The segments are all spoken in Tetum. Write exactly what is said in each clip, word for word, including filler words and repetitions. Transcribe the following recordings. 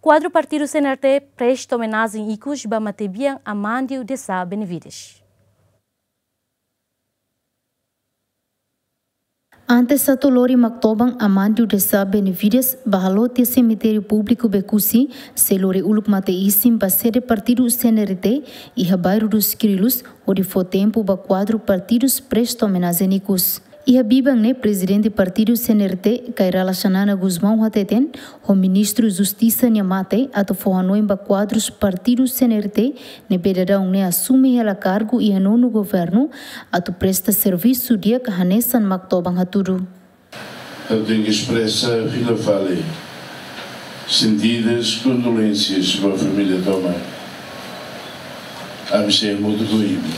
Kuadru partidu C N R T presta omenajen ikus ba matebian Amandio de Sá Benevides. Antes atu lori maktoban Amandio de Sá Benevides ba halo tiha semitériu públiku Becusse, sei lori uluk mate-isin ba sede partidu C N R T iha bairru dos Kriolus, hodi fó tempu ba kuadru partidus presta omenajen ikus. Iha biban ne'e, prezidente partidu C N R T, Kay Rala Xanana Gusmão hateten, ho Ministru Justisa nia mate atu fó hanoin ba kuadrus partidu C N R T ne'ebé daudaun ne'e asume hela kargu iha nonu governu atu presta servisu di'ak hanesan maktoban hatudu. Ha'u tenke espresa fila fali sentidas kondolénsias ba família tomak. Ami sei hamutuk ho imi.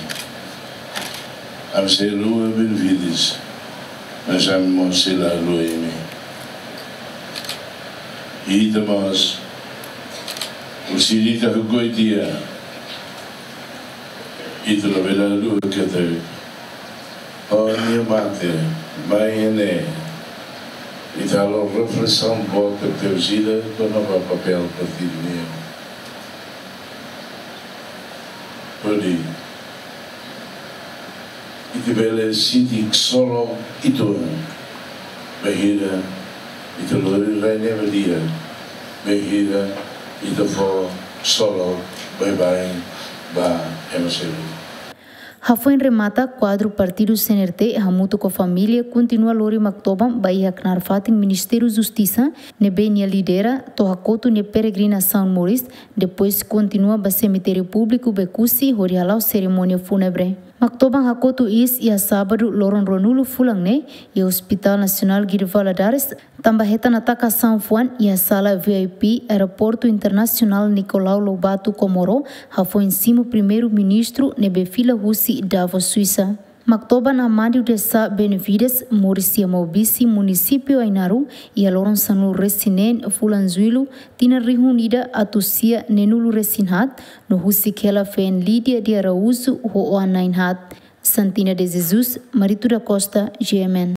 Ami sei haluha Benevides, mas ami mós sei la haluha imi. I ita mós, orsida ita hakoi tiha, ita labele haluha katak, ó, nia mate, mai ne'e, ita halo reflesaun boot tebes ida kona-ba papél partidu nian. Hodi ita bele sente ksolok uitoan bainhira ita lori rai ne'e ba di'ak, bainhira ita fó ksolok baibain ba ema seluk. Hafoin remata, kuadru partidu C N R T hamutuk ho família kontinua lori maktoban ba iha knaar fatin Ministériu Justisa, ne'ebé nia lidera, to'o hakotu nia peregrinasaun moris, depois kontinua ba semitériu públiku Becusse hodi hala'o serimónia fúnebre. Maktoban hakotu iis iha sábadu loron ruanulu fulan ne'e iha Hospital Nasionál Guido Valadares, tanba hetan atakasaun fuan iha sala V I P Aeroportu Internasionál Nicolau Lobato Comoro, hafoin simu Primeiru-Ministru ne'ebé fila husi Davos, Suisa. Maktoban Amandio de Sá Benevides, moris iha Maubisse, Munisípiu Ainaro, iha loron sanulu-resin-neen fulan Jullu, tinan rihun ida atus sia neenulu-resin-haat, no husik hela feen Lídia de Araújo ho oan na'in-haat. Santina de Jesus, Marito da Costa, G M N.